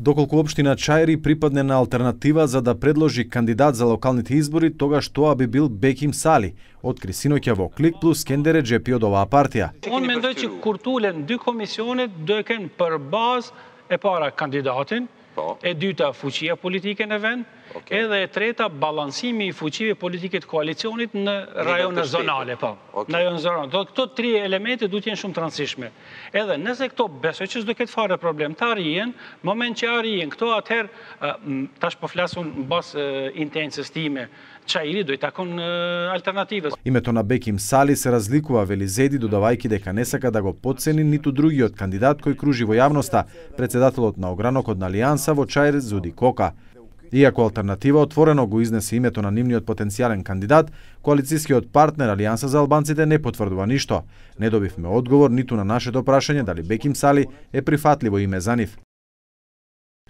Доколку општина Чајри припадне на алтернатива за да предложи кандидат за локалните избори, тогаш тоа би бил Беким Сали, откри синоќа во Клик плюс Скендер Реџепи од оваа партија. Unë mendoj që kur tulen dy komisionet do e kenë për bazë e para kandidatin, e dyta fuqia politike në vend, edhe e treta balancimi I fuqive politike të koalicionit në rajone zonale, Në rajone zonale. Këto tri elemente duhet jenë shumë të rëndësishme. Edhe nëse këto besoj që s'do ketë fare problem të arrijen, moment që arrijen këto atëherë tash po flasun mbas intencës time, Чајри do I takon алтернатива. Името на Беким Сали се разликува, вели Зеди, додавајќи дека не сака да го потцени ниту другиот кандидат кој кружи во јавноста, председателот на огранокот на Алијанса во Чајр Зуди Кока. Иако алтернатива отворено го изнесе името на нивниот потенцијален кандидат, коалицијскиот партнер Алијанса за албанците не потврдува ништо. Не добивме одговор ниту на нашето прашање дали Беким Сали е прифатливо име за нив.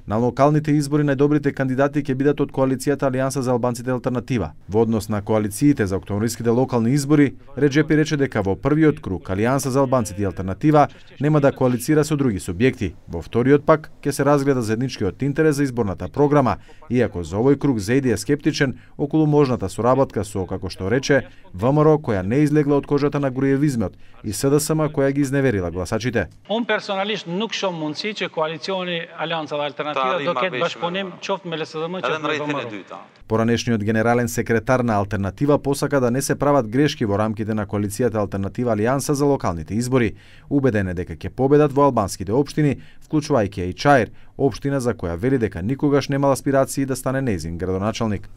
На локалните избори најдобрите кандидати ќе бидат од коалицијата Алијанса за албанците алтернатива. Во однос на коалициите за октомвриските локални избори, Реџепи рече дека во првиот круг Алијанса за албанците и алтернатива нема да коалицира со други субјекти. Во вториот пак ќе се разгледа заедничкиот интерес за изборната програма, иако за овој круг Зејди е скептичен околу можната соработка со, како што рече, ВМРО која не излегла од кожата на груевизмот и СДСМ која ги изневерила гласачите. Unë personalisht nuk shoh mundësi që koalicioni Alianca dhe Alternativa do ketë bashkëpunim qoftë me LSDM qoftë me ВМРО. Поранешниот генерален секретар на Алтернатива посака да не се прават грешки во рамките на коалицијата Алтернатива Алијанса за локалните избори. Убеден е дека ќе победат во албанските општини, вклучувајќи и Чајр, општина за која вели дека никогаш немал аспирации да стане нејзин градоначалник.